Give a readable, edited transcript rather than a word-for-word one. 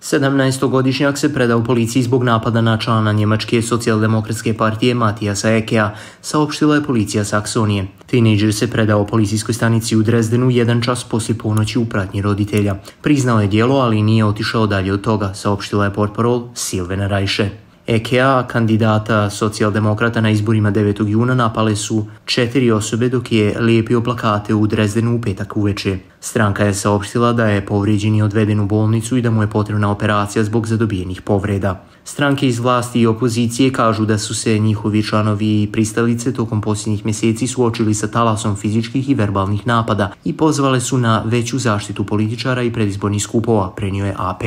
17-godišnjak se predao policiji zbog napada na člana njemačke socijaldemokratske partije Matijasa Ekea, saopštila je policija Saksonije. Tinejdžer se predao policijskoj stanici u Drezdenu 1 čas poslije ponoći u pratnji roditelja. Priznao je djelo, ali nije otišao dalje od toga, saopštila je portparol Silvana Rajše. Ekea, kandidata socijaldemokrata na izborima 9. juna, napale su 4 osobe dok je lijepio plakate u Drezdenu u petak uveče. Stranka je saopštila da je povrijeđen i odveden u bolnicu i da mu je potrebna operacija zbog zadobijenih povreda. Stranke iz vlasti i opozicije kažu da su se njihovi članovi i pristalice tokom posljednjih mjeseci suočili sa talasom fizičkih i verbalnih napada i pozvale su na veću zaštitu političara i predizbornih skupova, prenio je AP.